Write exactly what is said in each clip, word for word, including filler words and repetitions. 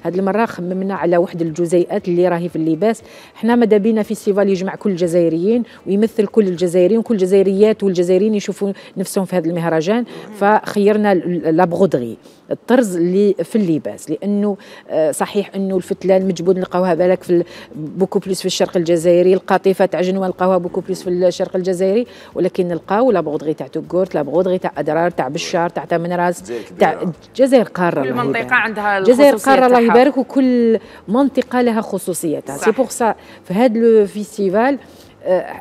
هذه المره خممنا على واحد الجزيئات اللي راهي في اللباس. حنا ماذا بينا فيستيفال يجمع كل الجزائريين ويمثل كل الجزائريين وكل الجزائريات والجزائريين يشوفوا نفسهم في هذا المهرجان. فخيرنا لا برودغي، الطرز اللي في اللباس، لانه صحيح انه الفتله المجبود نلقاوها بالك في بوكو بليس في الشرق الجزائري، القاطفه تاع جنوه نلقاوها بوكو بليس في الشرق الجزائري، ولكن نلقاو لا برودغي تاع توكورت، لا برودغي تاع ادرار، تاع بشار، تاع تامنراس، تاع الجزائر قاره. كل منطقه عندها الجزائر قاره الله يبارك، وكل منطقه لها خصوصيتها. سي بوغ سا في هذا الفيستيفال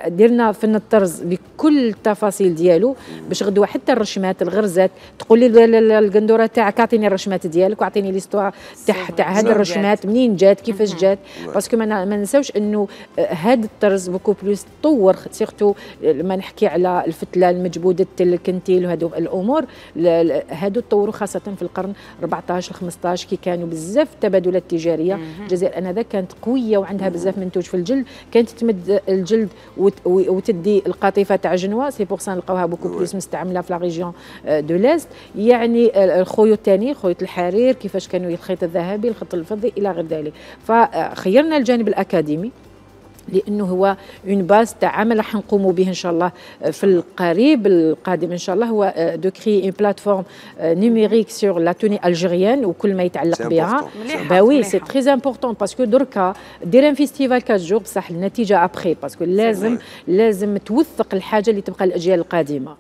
درنا فن الطرز بكل التفاصيل ديالو، باش غدوه حتى الرشمات الغرزات تقول لي القندوره تاعك اعطيني الرشمات ديالك واعطيني ليستوار تاع تاع هذه الرشمات منين جات كيفاش جات. باسكو ما ننساوش انه هذا الطرز بوكو بلوس تطور، سيرتو لما نحكي على الفتله المجبوده الكنتيل وهذو الامور، هادو تطوروا خاصه في القرن أربعطاش خمسطاش كي كانوا بزاف تبادلات تجاريه. الجزائر انذاك كانت قويه وعندها بزاف منتوج في الجلد، كانت تمد الجلد وتدي القاطفه تاع جنوه. سي بوغ سا نلقاوها بوكو بلوس مستعمله في لا ريجيون دو ليست. يعني الخيوط الثاني خيوط الحرير، كيفاش كانوا الخيط الذهبي، الخيط الفضي الى غير ذلك. فخيرنا الجانب الاكاديمي لانه هو اون باز تاع عمل راح نقوموا به ان شاء الله في القريب القادم ان شاء الله، هو دو كري اون بلاتفورم نيميريك سور لا توني الجيريان وكل ما يتعلق بها. با وي سي تري امبورطون باسكو دركا دير ان فيستيفال أربعة جور بصح النتيجه ابخي، باسكو لازم لازم توثق الحاجه اللي تبقى الاجيال القادمه.